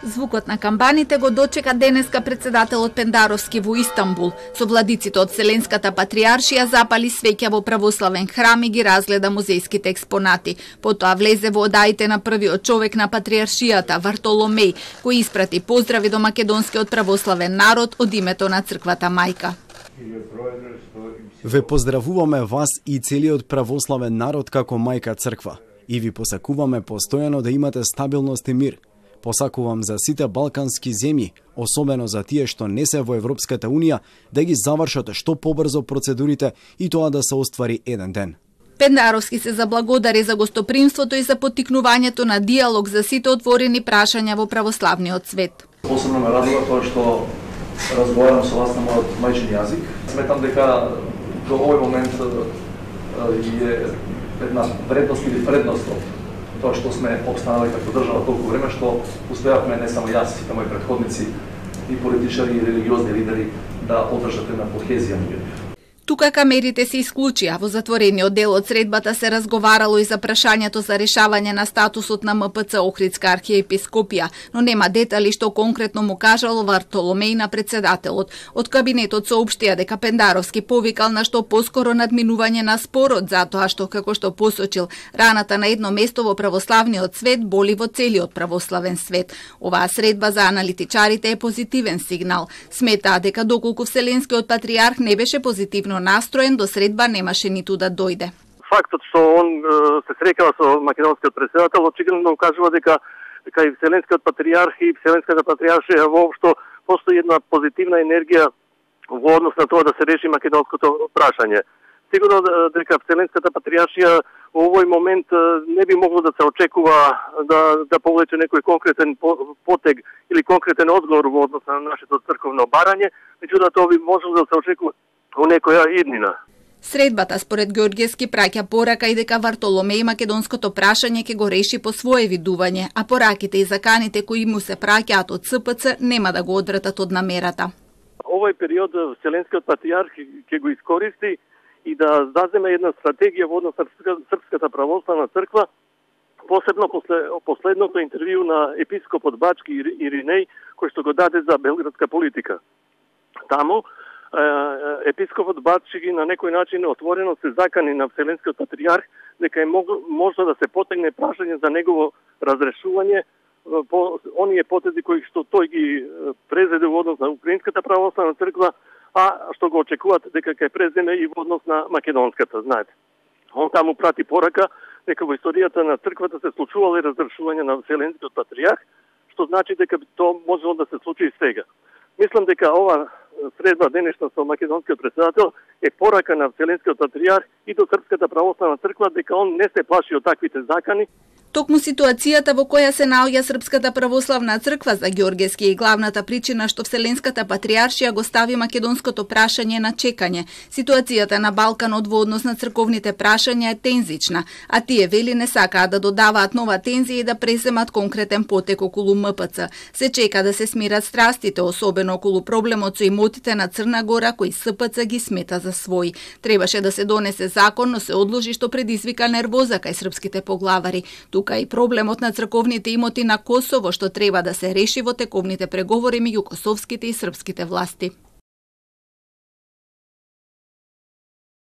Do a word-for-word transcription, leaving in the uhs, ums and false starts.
Звукот на камбаните го дочека денеска председателот Пендаровски во Истанбул. Со владиците од Вселенската патриаршија запали свеќа во православен храм и ги разгледа музејските експонати. Потоа влезе во одаите на првиот човек на патриаршијата, Вартоломеј, кој испрати поздрави до македонскиот православен народ од името на црквата мајка. Ве поздравуваме вас и целиот православен народ како мајка црква и ви посакуваме постојано да имате стабилност и мир. Посакувам за сите балкански земји, особено за тие што не се во Европската Унија, да ги завршат што побрзо процедурите и тоа да се оствари еден ден. Пендаровски се заблагодари за гостопримството и за поттикнувањето на диалог за сите отворени прашања во православниот свет. Посебно ме радува тоа што разговарам со вас на мојот мајчин јазик. Сметам дека до овој момент е една вредност или предност од тоа што сме обстанали како држава толку време, што успеавме не само јас, и мои претходници, и политичари, и религиозни лидери да одржат една кохезија меѓу нив. Тука камерите се исклучија. Во затворениот дел од средбата се разговарало и за прашањето за решавање на статусот на М П Ц Охридска архиепископија, но нема детали што конкретно му кажал Вартоломеј на председателот. Од кабинетот соопштија дека Пендаровски повикал на што поскоро надминување на спорот, затоа што, како што посочил, раната на едно место во православниот свет боли во целиот православен свет. Оваа средба за аналитичарите е позитивен сигнал. Сметаа дека доколку Вселенскиот патриарх не беше позитивно настроен, до средба немаше ниту да дојде. Фактот што он се срекава со македонскиот претседател очигледно укажува дека дека и Вселенскиот патриарх и Вселенската патриаршија воопшто постои една позитивна енергија во однос на тоа да се реши македонското прашање. Сигурно дека Вселенската патриаршија во овој момент не би могло да се очекува да да повлече некој конкретен потег или конкретен одговор во однос на нашето црковно барање, меѓутоа тоа би можело да се очекува во некоја иднина. Средбата според Ѓорѓевски праќа порака и дека Вартоломеј македонското прашање ќе го реши по свое видување, а пораките и заканите кои му се праќаат од С П Ц нема да го одвратат од намерата. Овој период Вселенскиот патриарх ќе го искористи и да заземе една стратегија во однос на Српската православна црква, посебно после последното интервју на епископот Бачки Иринеј, кој што го даде за белградска политика. Таму епископот Бачки на некој начин отворено се закани на Вселенскиот патриарх дека е можно да се потегне прашање за негово разрешување по оние потези кои што тој ги презеде во однос на Украинската православна црква, а што го очекуваат дека ќе преземе и во однос на македонската, знаете. Он таму прати порака дека во историјата на црквата се случувало и разрешување на Вселенскиот патриарх, што значи дека тоа можело да се случи и сега. Мислам дека ова средба денешна со македонскиот претседател е порака на Вселенскиот патриарх и до Српската православна црква дека он не се плаши од таквите закани. Токму ситуацијата во која се наоѓа Српската православна црква за Ѓорѓевски е главната причина што Вселенската патриаршија го стави македонското прашање на чекање. Ситуацијата на Балканот во однос на црковните прашања е тензична, а тие вели не сакаат да додаваат нова тензија и да преземат конкретен потек околу М П Ц. Се чека да се смират страстите, особено околу проблемот со имотите на Црна Гора кои С П Ц ги смета за своји. Требаше да се донесе закон, но се одложи што предизвика нервоза кај српските поглавари. Тука и проблемот на црковните имоти на Косово што треба да се реши во тековните преговори меѓу косовските и српските власти.